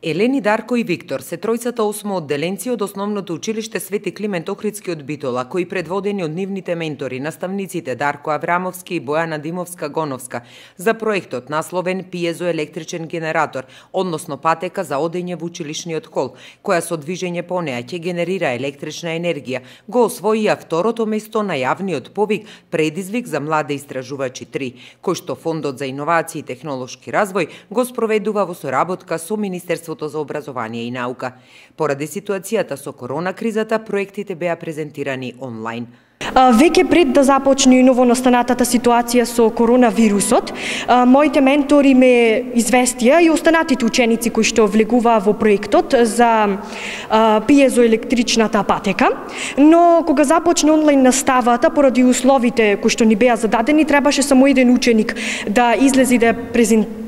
Елени, Дарко и Виктор се тројцата осмоодделенци од Основното училиште Свети Климент Охридски од Битола, кои предводени од нивните ментори, наставниците Дарко Аврамовски и Бојана Димовска-Гоновска, за проектот насловен пиезоелектричен генератор, односно патека за одење во училишниот хол, која со движење по неа ќе генерира електрична енергија, го освоија второто место на јавниот повик Предизвик за млади истражувачи 3, кој што Фондот за иновации и технолошки развој го спроведува во соработка со Министерството за образование и наука. Поради ситуацијата со корона кризата, проектите беа презентирани онлайн. Веќе пред да започне новонастанатата ситуација со коронавирусот, моите ментори ме известија и останатите ученици кои што влегуваа во проектот за пиезоелектричната патека, но кога започне онлайн наставата, поради условите кои што ни беа зададени, требаше само еден ученик да излезе и да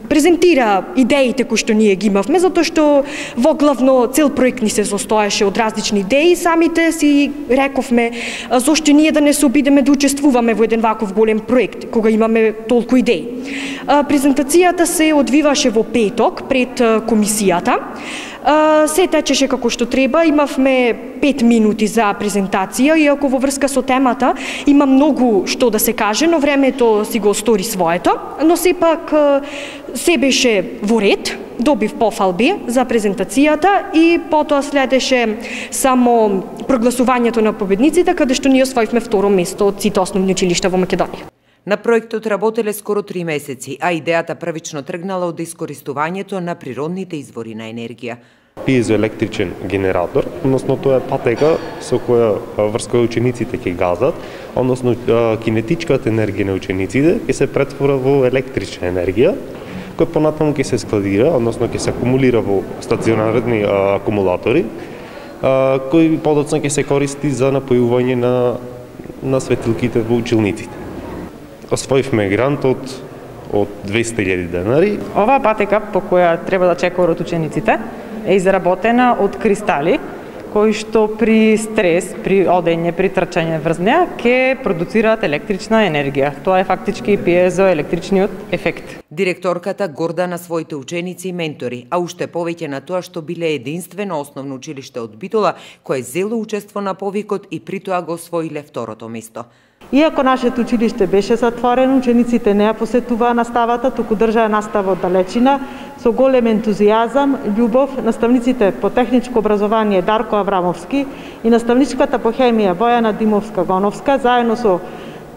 презентира идеите кои што ние ги имавме, затоа што во главно цел проект ни се состоеше од различни идеи. Самите си рековме зошто ние да не се обидеме да учествуваме во еден ваков голем проект, кога имаме толку идеи. Презентацијата се одвиваше во петок пред комисијата. Се течеше како што треба, имавме 5 минути за презентација, иако во врска со темата има многу што да се каже, но времето си го стори своето, но сепак се беше во ред, добив пофалби за презентацијата и потоа следеше само прогласувањето на победниците, каде што ние освоивме второ место од сите основни училишта во Македонија. На проектот работеле скоро 3 месеци, а идејата првично тргнала од искористувањето на природните извори на енергија. Пиезоелектричен генератор, односно тоа е патека со која врз која учениците ќе газат, односно кинетичката енергија на учениците ќе се претвора во електрична енергија, која понатаму ќе се складира, односно ќе се акумулира во стационарни акумулатори, кои подоцна ќе се користи за напојување на светилките во училниците. Освоивме грант од 200.000 денари. Оваа патека по која треба да чекаат учениците е изработена од кристали, кои што при стрес, при одење, при трчање врз неа ќе продуцираат електрична енергија. Тоа е фактички пиезоелектричниот ефект. Директорката горда на своите ученици и ментори, а уште повеќе на тоа што биле единствено основно училиште од Битола кое зело учество на повикот и при тоа го освоиле второто место. Иако нашето училиште беше затворено, учениците не ја посетуваа наставата, туку држаа настава од далечина, со голем ентузијазам, љубов, наставниците по техничко образование Дарко Аврамовски и наставничката по хемија Бојана Димовска-Гоновска, заедно со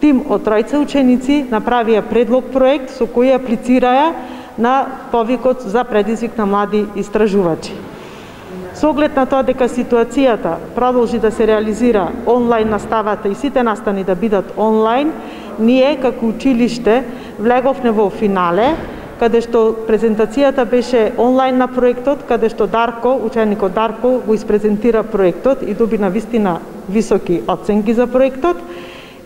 тим од тројца ученици, направија предлог проект со кој аплицираа на повикот за предизвик на млади истражувачи. Со оглед на тоа дека ситуацијата продолжи да се реализира онлайн наставата и сите настани да бидат онлайн, ние како училиште влеговме во финале, каде што презентацијата беше онлайн на проектот, каде што Дарко, ученикот Дарко, го испрезентира проектот и доби навистина високи оценки за проектот.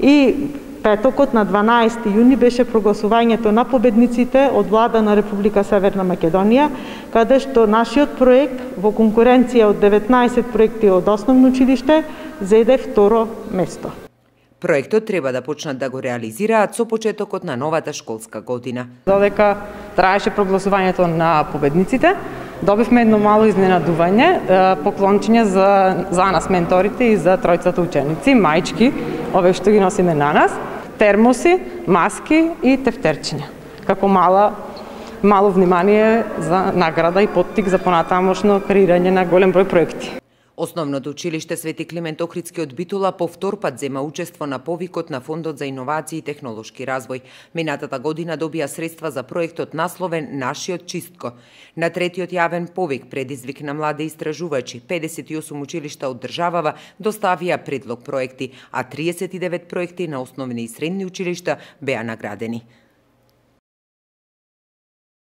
И петокот на 12 јуни беше прогласувањето на победниците од влада на Република Северна Македонија, каде што нашиот проект во конкуренција од 19 проекти од основно училиште зеде второ место. Проектот треба да почнат да го реализираат со почетокот на новата школска година. Додека траеше прогласувањето на победниците, добивме едно мало изненадување, поклончиња за нас менторите и за тројцата ученици, маички, овие што ги носиме на нас, термоси, маски и тефтерчиња. Како мало внимание за награда и поттик за понатамошно креирање на голем број проекти. Основното училиште Свети Климент Охридски од Битола повтор пат зема учество на повикот на Фондот за иновации и технолошки развој. Минатата година добија средства за проектот насловен Нашиот чистко. На третиот јавен повик Предизвик на млади истражувачи, 58 училишта од државава доставија предлог проекти, а 39 проекти на основни и средни училишта беа наградени.